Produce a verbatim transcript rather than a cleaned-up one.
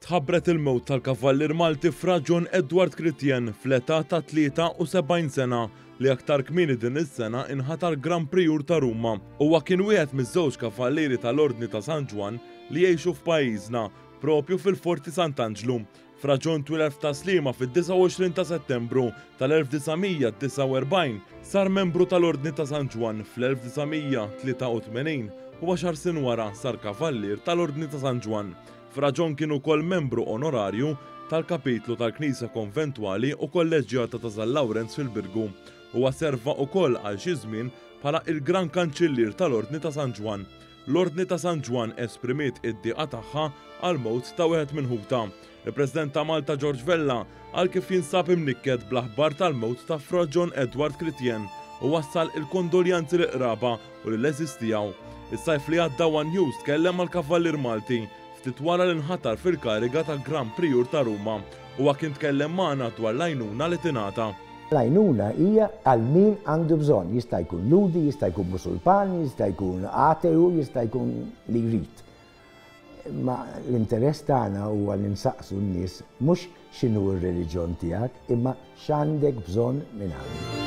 Tħabbret il-mewt tal-Kavallier Malti Fra John Edward Critien fl-età ta' tlieta u sebgħin sena, li aktar kmieni din is-sena inħatar Gran Prijur ta' Ruma. Huwa kien wieħed miż-żewġ kavallieri tal-Ordni ta' San Ġwann li jgħixu f'pajjiżna, propju fil-Forti Sant'Anġlu. Fra John twieled f'Tas-Sliema fid-disgħa u għoxrin ta' Settembru tal-elf disa' mija disgħa u erbgħin, sar membru tal-Ordni ta' San Ġwann fl-elf disa' mija tlieta u tmenin u għaxar snin wara sar kavallier tal-Ordni ta' San Ġwann. Fra John kien ukoll membru onorarju tal-kapitlu tal-Knisja Konventwali u Kolleġġjata ta' San Lawrenz fil-Birgu. Huwa serva ukoll għal xi żmien bħala il-Gran Kanċillier tal-Ordni ta' San Ġwann. L-Ordni ta' San Ġwann esprimiet id-diqa tagħha għal mewt ta' wieħed minn ħutha. Il-President ta' Malta George Vella qal kif jinsab imnikket bl-aħbar tal-mewt ta' Fra John Edward Critien u wassal il-kondoljanzi lill-qraba u lill-għeżież tiegħu. Is-sajf li għadda One News tkellem mal-Kavallier Malti ftit wara li nħatar fil-kariga ta' Gran Prijur ta' Ruma. Huwa kien tkellem magħna dwar l-għajnuna li tingħata. L-għajnuna hija għal min għandu bżonn, jista' jkun Lhudi, jista' jkun Musulman, jista' jkun ateu, jista' jkun li jrid. Ma l-interess tagħna huwa li nsaqsu n-nies mhux x'inhu r-reliġjon tiegħek, imma x'għandek bżonn minn għandi.